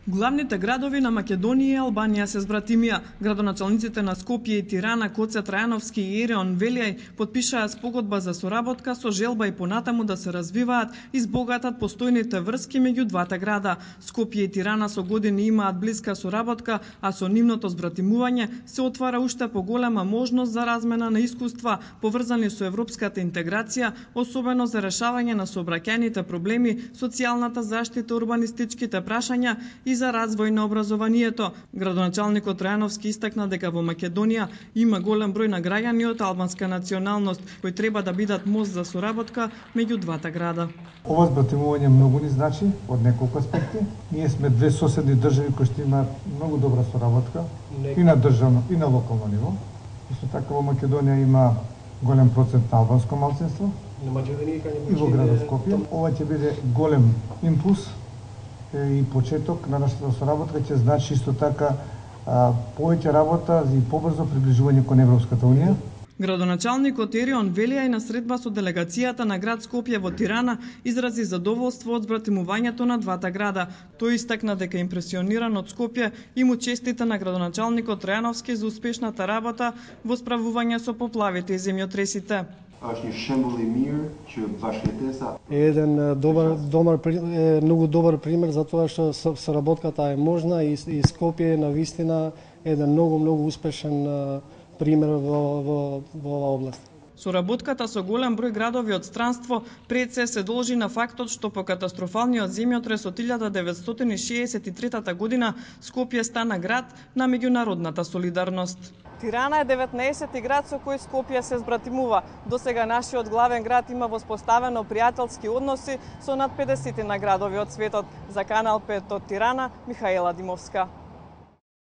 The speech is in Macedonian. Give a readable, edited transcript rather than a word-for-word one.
Главните градови на Македонија и Албанија се збратимија. Градоначалниците на Скопје и Тирана, Коце Трајановски и Ереон Велијај подпишаа спогодба за соработка со желба и понатаму да се развиваат и збогатат постојните врски меѓу двата града. Скопје и Тирана со години имаат блиска соработка, а со нивното збратимување се отвара уште поголема можност за размена на искуства поврзани со европската интеграција, особено за решавање на сообраќајните проблеми, социјалната заштита, урбанистичките прашања и за развој на образованието. Градоначалникот Трајановски истакна дека во Македонија има голем број на граѓани од албанска националност кои треба да бидат мост за соработка меѓу двата града. Ова збратимување многу ни значи од неколку аспекти. Ние сме две соседни држави кои што имаат многу добра соработка и на државно и на локално ниво. Исто така во Македонија има голем процент на албанско малцинство и во градот Скопје. Ова ќе биде голем импулс и почеток на нашата соработка, ќе значи исто така повеќе работа и побрзо приближување кон Европската унија. Градоначалникот Ереон Велијај на средба со делегацијата на град Скопје во Тирана изрази задоволство од збратимувањето на двата града. Тој истакна дека импресиониран од Скопје и му честита на градоначалникот Трајановски за успешната работа во справување со поплавите и земјотресите. Еден многу добар пример за тоа што соработката е можна и Скопје е навистина еден многу успешен пример во оваа област. Соработката со голем број градови од странство пред се должи на фактот што по катастрофалниот земјотрес од 1963 година Скопје стана град на меѓународната солидарност. Тирана е 19-ти град со кој Скопје се збратимува. Досега нашиот главен град има воспоставено пријателски односи со над 50 на градови од светот. За Канал 5 од Тирана, Михаела Димовска.